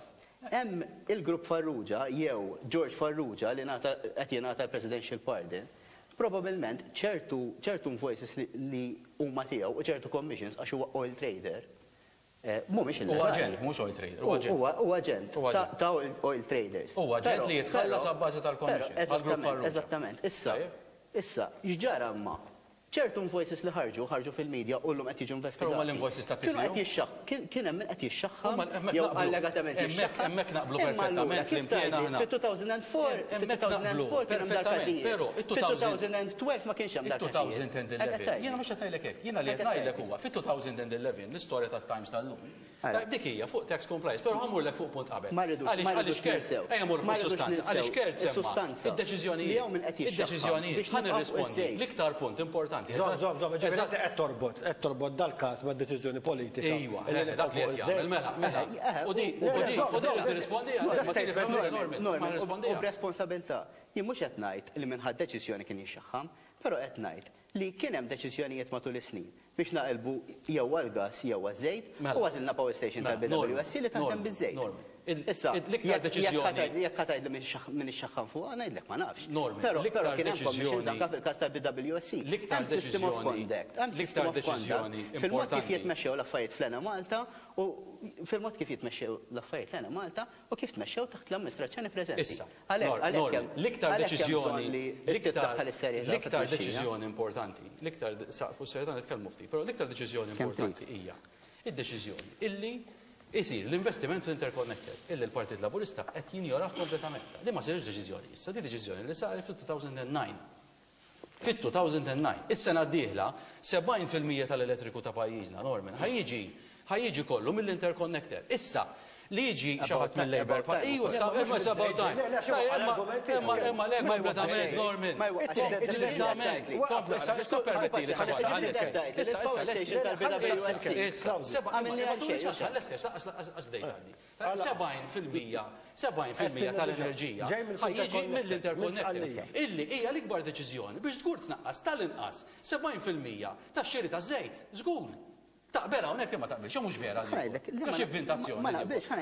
Hemm il-Grupp Farrugia jew George Farrugia li ngħata qed jingħata l-Presidential Pardon, probabilment ċertu ċertu invoices li huma tiegħu u ċertu commissions għax huwa oil trader, Mhumiex illegali.
Huwa aġent, mhux oil trader, huwa aġent.
Huwa aġent ta' oil traders.
Huwa aġent li jitħallas abbażi tal-commission għall-Grupp Farrugia.
Eżattament. Issa, issa, x'ġara imma? Ċertu invoices li ħarġu, ħarġu fil-media u llum qed jiġu investigati.
Però huma l-invoices ta'
Kienu qed jixxaħ, kien hemm min qed jixxaħħam jew allegatament jixxaħħam.
Hemmhekk naqblu perfettament flimkien aħna.
Fit-2004, fit-2004 kien hemm dal-każijiet.
Però
fit-2012 ma kienx hemm dal-każijiet.
It-2011. Jiena mhux qed ngħidlek hekk. Jiena li qed ngħidlek huwa fit-2011 l-istorja tat-Times tal-lum, tajjeb dik hija fuq tax compliance, però ħa mmurlek fuq punt qabel. Għaliex għaliex Kurt, ejja mmorru fuq is-sustanza, għaliex Kurt semma id-deċiżjonijiet, id-deċiżjonijiet, ħa nirrispondi l-iktar punt importanti.
Żomm, żomm, żomm, ġifieri inti qed torbot, qed torbot dal-każ mad-deċiżjoni politika.
Ejwa, dak li qed jagħmel, mela, mela. U di, u di, u di nirrispondiha, ma tieni Norman, ma nirrispondiha.
U b'responsabilità. Jien mhux qed ngħid li min ħa d-deċiżjoni kien jixxaħħam, però qed ngħid li kien hemm deċiżjonijiet matul is-snin. biex naqilbu jew għall-gass jew għaż-żejt u għażilna power station tal-BWSC li taħdem biż-żejt. Issa, jekk ħa tgħidli min ixxaħħam fuqha, ngħidlek ma nafx. Però kien hemm commissions anke fil-każ tal-BWSC. Hemm system of conduct, hemm system of conduct fil-mod kif jitmexxew l-affarijiet fl-Enemalta u fil-mod kif jitmexxew l-affarijiet l-Enemalta u kif tmexxew taħt l-amministrazzjoni preżenti.
Issa, Għalhekk hemm l-iktar deċiżjoni li tiddaħħal is-serjetà. L-iktar deċiżjoni importanti, l-iktar fuq is-serjetà nitkellmu ftit, però l-iktar deċiżjoni importanti hija id-deċiżjoni illi jsir l-investiment fl-interconnector illi l-Partit Laburista qed jinjorah kompletament. Din ma saritx deċiżjoni issa, din deċiżjoni li saret fit-2009. Fit-2009, is-sena d-dieħla, 70% tal-elettriku ta' pajjiżna, Norman, ħa jiġi, ħa jiġi kollu mill-interconnector. Issa, li jiġi xi ħadd mill-Labour Party, ijwa, sa, imma it's about time. Imma, imma, imma le, kompletament, Norman. Kompletament. Issa, issa ppermettili sekonda, ħalli Issa, issa, lesti. Issa, seba', imma, imma turi ċans, ħalli lesti, lanqas bdejt għadni. 70% 70% tal-enerġija ħa jiġi mill-interconnector, illi hija l-ikbar deċiżjoni biex żgur tnaqqas tal-inqas 70% tax-xiri taż-żejt. Żgur! Taqbel hawnhekk jew ma taqbilx, jew mhux vera din? Jew xi vvintazzjoni?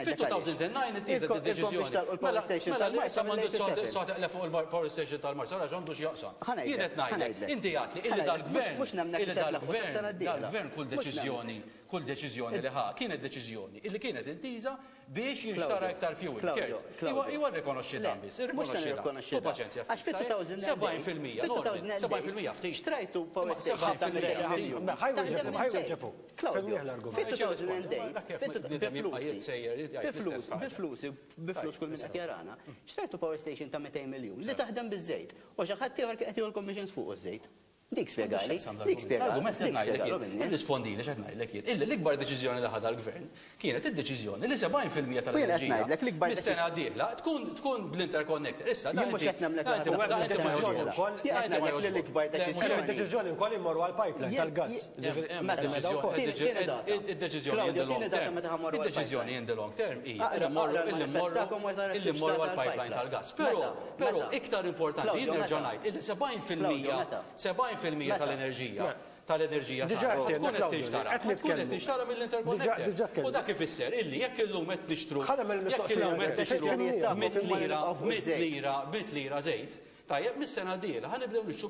Fit-2009 ittieħdet id-deċiżjoni. Mela, mela li issa m'għandux sod eqleb fuq il-power station tal-Marsa, għax għandu x'jaqsam. Jien qed ngħidlek, inti għedtli illi dal-gvern, illi dal-gvern, dal-gvern kull deċiżjoni Kull deċiżjoni li ħa kienet deċiżjoni illi kienet intiża biex jinxtara iktar fuel. Kurt, iwa rrikonoxxi dan biss, irrikonoxxi dan. Ħu paċenzja ftit. 70%, Norman, 70% ftit.
Xtrajtu power station ta' Bi flusi, bi flus kull min qed jarana, xtrajtu power station ta' 200 miljun li taħdem biż-żejt u xi ħadd ieħor kien qed jieħu l-commissions fuq iż-żejt. Dik spjegali, dik spjegali.
L-argument qed ngħidlek jien, irrispondili x'qed ngħidlek jien, illi l-ikbar deċiżjoni li ħadha l-Gvern kienet id-deċiżjoni li 70% tal-enerġija mis-sena d-dieħla tkun tkun bl-interconnector. Issa dan inti dan inti ma jogħġbokx.
Jien qed ngħidlek li l-ikbar deċiżjoni.
Hemm deċiżjoni wkoll immorru għall-pipeline tal-gass.
Id-deċiżjoni in the long term. Id-deċiżjoni in the long term hija illi mmorru illi mmorru illi mmorru għall-pipeline tal-gass. Però Però iktar importanti, jien nerġa' ngħid illi 70% 70% tal-enerġija tal-enerġija tagħna tkun qed tinxtara tkun qed tinxtara mill-interconnector. U dak ifisser illi jekk illum qed nixtru jekk illum qed nixtru mitt lira mitt lira mitt lira żejt, tajjeb mis-sena d-dieħla ħa nibdew nixtru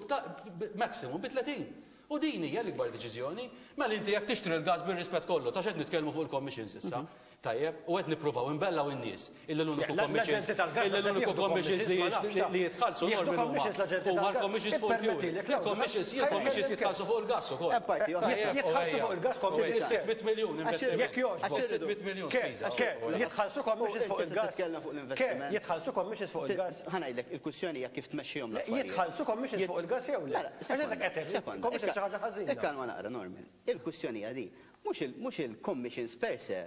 maximum bi 30. U din hija l-ikbar deċiżjoni. Mela inti jekk tixtri l-gass bir-rispett kollu, ta' x'qed nitkellmu fuq il-commissions issa, tajjeb, u qed nippruvaw inbellaw in-nies illi l-uniku commissions illi l-uniku commissions li jitħallsu Norman huma huma l-commissions fuq il-fuel. Il-commissions il-commissions jitħallsu fuq il-gass ukoll.
Jitħallsu fuq il-gass commissions.
600 miljun investiment.
Jekk jogħġbok.
600 miljun spiża.
Jitħallsu commissions fuq il-gass. Jitħallsu commissions fuq il-gass.
Ħa ngħidlek, il-kwistjoni hija kif tmexxihom l-affarijiet.
Jitħallsu commissions fuq il-gass jew le?
Sekonda.
Commissions xi ħaġa ħażina.
Ikkalma naqra, Norman. Il-kwistjoni hija di, mhux il-commissions per se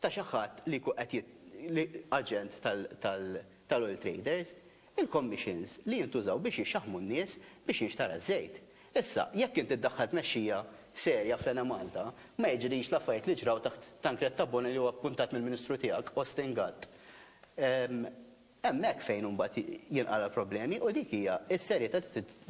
ta' xi ħadd li jkun qed li aġent tal-oil traders, il-commissions li jintużaw biex jixxaħħmu n-nies biex jinxtara ż-żejt. Issa, jekk inti ddaħħal tmexxija serja fl-Enemalta, ma jiġrix l-affarijiet li ġraw taħt Tancred Tabone li huwa appuntat mill-Ministru tiegħek, Austin Gatt. Hemmhekk fejn imbagħad jinqala' l-problemi u dik hija s-serjetà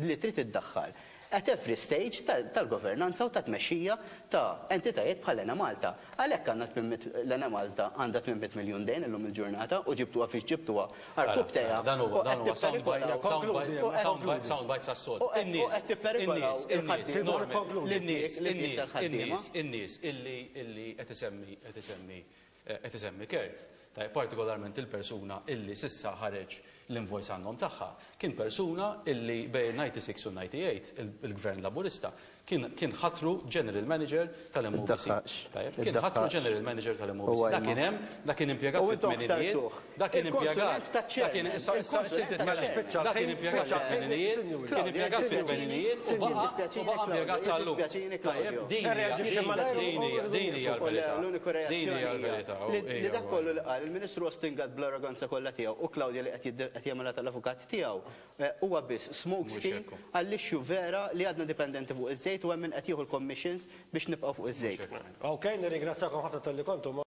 li trid iddaħħal at every stage tal-governanza u tat-tmexxija ta' entitajiet bħal Enemalta. Għalhekk għandna tmien l-Enemalta għandha 800 miljun dejn illum il-ġurnata u ġibtuha fiex ġibtuha għarkupptejha
u qed tipperikolaw
u qed tipperikolaw il-ħaddiema
In-nies, in-nies, in-nies, in-nies illi illi qed isemmi qed isemmi Qed isemmi Kurt, tajjeb, partikolarment il-persuna illi s'issa ħareġ l-invoice għan-nom tagħha, kien persuna illi bejn il-96 u l-98 il-Gvern Laburista kien kien ħatru General Manager tal-MOBC. Tajjeb, kien ħatru General Manager tal-MOBC. Dak kien hemm, dak kien impjegat fit-tmeninijiet, dak kien impjegat, dak kien issa issa issa inti tmela, dak kien impjegat fit-tmeninijiet, kien impjegat fit-tmeninijiet u baqa' u baqa' impjegat sal-lum. Tajjeb, din hija din hija din hija l-verità. Din hija l-verità.
Li dak kollu li qal il-Ministru Austin Gatt bl-arroganza kollha tiegħu u Claudia li qed jagħmilha tal-avukat tiegħu huwa biss smoke screen għall-issue vera li għadna dipendenti fuq iż-żejt u hemm min qed jieħu l-commissions biex nibqgħu fuq iż-żejt.
Ok, nirringrazzjakom ħafna talli kontu.